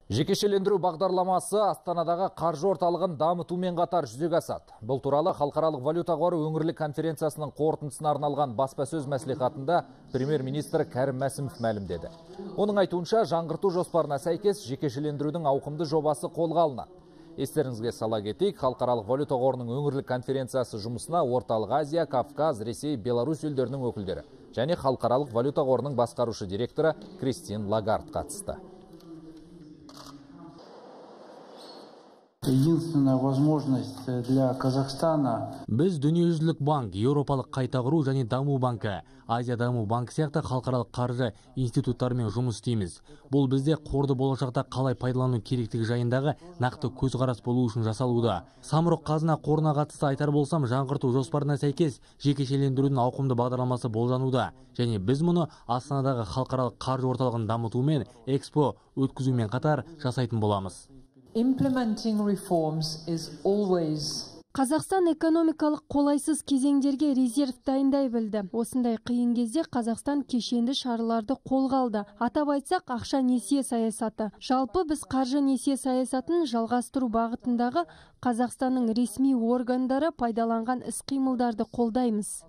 Жекешелендіру бағдарламасы Астанадағы қаржы орталығын дамытумен қатар жүзеге асады. Бұл туралы Халықаралық валюта қоры өңірлік конференциясының қорытындысына арналған баспасөз мәслихатында премьер-министр Кәрім Мәсімов мәлімдеді. Оның айтуынша, жаңғырту жоспарына сәйкес жекешелендірудің ауқымды жобасы қолға алынады. Естеріңізге сала кетейік, Халықаралық валюта қорының өңірлік конференциясы жұмысына Орталық Азия, Кавказ, Ресей, Беларусь елдерінің өкілдері және Халықаралық валюта қорының басқарушы директоры Кристин Лагард қатысты. Единственная возможность для Казахстана. Біз Дүниежүзілік банк, Еуропалық қайта құру және даму банкі, Азия даму банкі сияқты халықаралық қаржы институттарымен жұмыс істейміз. Бұл бізде қорды болашақта қалай пайдалану керектігі жайындағы нақты көзқарас болу үшін жасалуда. Самұрық қазына қорына қатысты айтар болсам, жаңғырту жоспарына сәйкес жекешелендірудің ауқымды бағдарламасы болжануда. Және біз мұны Астанадағы халықаралық қаржы орталығын дамытумен, экспо өткізумен қатар жасайтын боламыз. Implementing reforms is always. Қазақстан экономикалық қолайсыз кезеңдерге резерв дайындай білді. Осындай қиын кезде Қазақстан кешенді шараларды қолға алды. Атап айтсақ, ақша несие саясаты. Жалпы біз қаржы несие саясатын жалғастыру бағытындағы Қазақстанның ресми органдары пайдаланған іс-қимылдарды қолдаймыз.